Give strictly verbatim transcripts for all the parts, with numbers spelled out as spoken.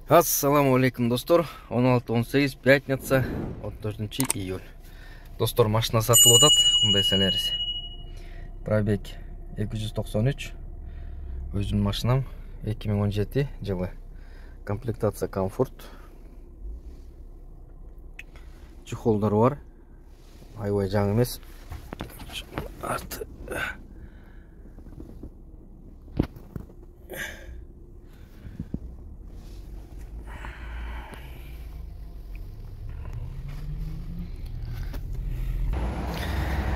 Ассаламу алейкум, достор. он алты он сегиз пятница, он төртүнчү июль. Достор, машина сатылып атат. Кандай санайсыз? Пробег эки жүз токсон үч. Өзүмдүн машинам эки миң он жети жылы. Комплектация комфорт. Чехолдору бар. Аябай жаңы эмес. Арты.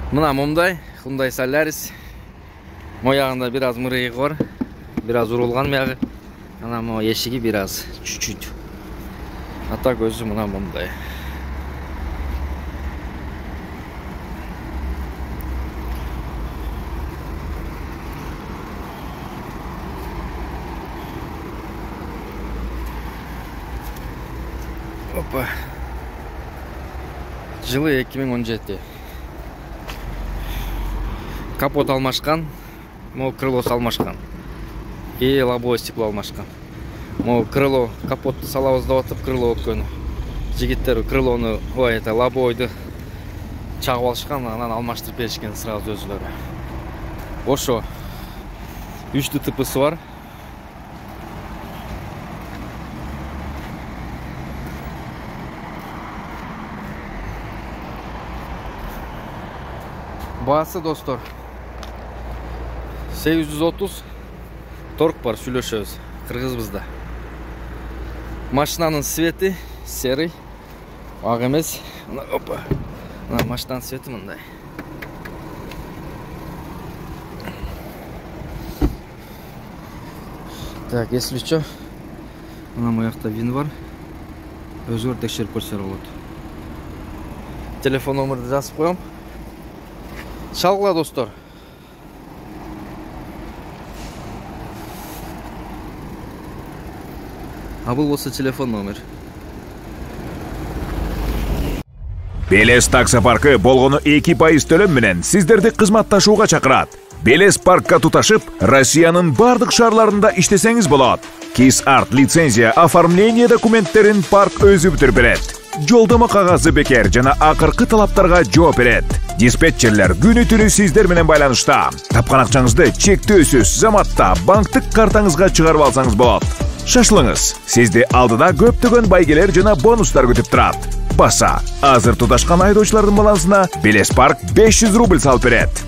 Мына момдай, Hyundai Solaris. Моягында бир аз мырыйы бар, бир аз урулган мягы. Ана мо эшиги бир аз чуть-чуть. А так өзү мына момдай. Опа. Жылы эки миң он жети. Капот алмашкан, могу крылосу алмашкан. И лобовое стекло алмашкан. Могу крыло, капотту салабыз деп атып, крыло өткөн. Жигиттер крылону, ой, это лобовойду чагып алышкан, анан алмаштырып беришкен сразу өзүлөрү. Ошо үч ДТПсы бар. Баасы, достор, сегиз жүз отуз. Торг бар, сүйлөшөбүз. Кыргызбызда. Машинанын свети серый, ак эмес. Опа. Мына машинанын свети мындай. Так, если что, мына моякта вин бар. Өзүңөр текшерип көрсөңөр болот. Телефон номерди жазып коем. Шалгыла, достор. А бул болсо телефон номер. Белес таксопаркы болгону эки пайыз төлөм менен сиздерди кызматташууга чакырат. Белес паркка туташып, Россиянын бардык шаарларында иштесеңиз болот. Кис-арт лицензия оформление документтерин парк өзү бүтүрүп берет. Жолдомо кагазы бекер жана акыркы талаптарга жооп берет. Диспетчерлер күнү түнү сиздер менен байланышта. Тапкан акчаңызды чектөөсүз заматта банктык картаңызга чыгарып алсаңыз болот. Шашылыңыз. Сизди алдыда көптөгөн байгелер жана бонустар күтүп турат. Баса, азыр туташкан айдоочулардын балансына Белес парк беш жүз рубль салып берет.